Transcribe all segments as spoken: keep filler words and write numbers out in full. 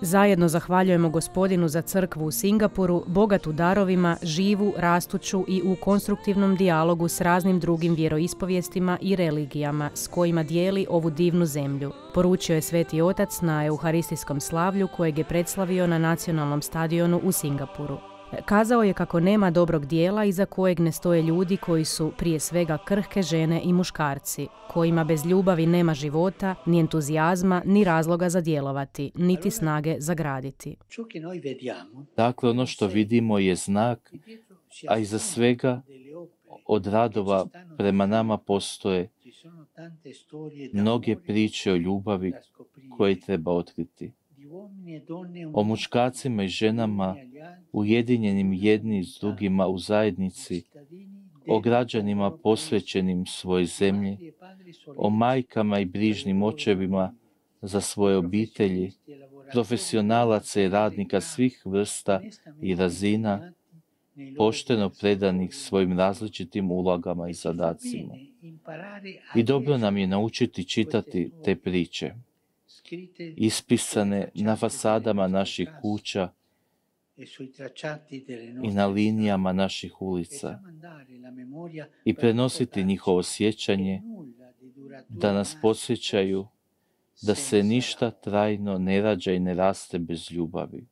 Zajedno zahvaljujemo Gospodinu za crkvu u Singapuru, bogatu darovima, živu, rastuću i u konstruktivnom dijalogu s raznim drugim vjeroispovijestima i religijama s kojima dijeli ovu divnu zemlju, poručio je Sveti Otac na euharistijskom slavlju kojeg je predslavio na nacionalnom stadionu u Singapuru. Kazao je kako nema dobrog dijela iza kojeg ne stoje ljudi koji su prije svega krhke žene i muškarci, kojima bez ljubavi nema života, ni entuzijazma, ni razloga za djelovati, niti snage za graditi. Dakle, ono što vidimo je znak, a iza svega od radova prema nama postoje mnoge priče o ljubavi koje treba otkriti. O muškarcima i ženama ujedinjenim jedni s drugima u zajednici, o građanima posvećenim svojoj zemlji, o majkama i brižnim očevima za svoje obitelji, profesionalaca i radnika svih vrsta i razina, pošteno predanih svojim različitim ulogama i zadacima. I dobro nam je naučiti čitati te priče, ispisane na fasadama naših kuća i na linijama naših ulica, i prenositi njihovo sjećanje, da nas podsjećaju da se ništa trajno ne rađa i ne raste bez ljubavi.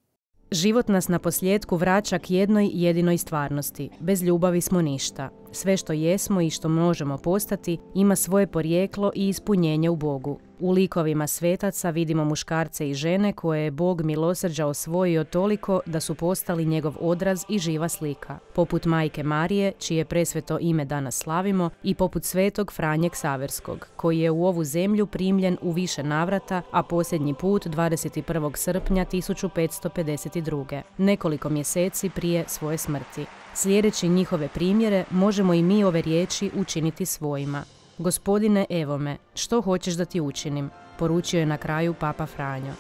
Život nas na posljedku vraća k jednoj jedinoj stvarnosti. Bez ljubavi smo ništa. Sve što jesmo i što možemo postati ima svoje porijeklo i ispunjenje u Bogu. U likovima svetaca vidimo muškarce i žene koje je Bog milosrđa osvojio toliko da su postali njegov odraz i živa slika. Poput majke Marije, čije presveto ime danas slavimo, i poput svetog Franje Ksaverskog, koji je u ovu zemlju primljen u više navrata, a posljednji put dvadeset prvog srpnja tisuću petsto pedeset druge, nekoliko mjeseci prije svoje smrti. Slijedeći njihove primjere, možemo i mi ove riječi učiniti svojima. Gospodine, evo me, što hoćeš da ti učinim? Poručio je na kraju Papa Franjo.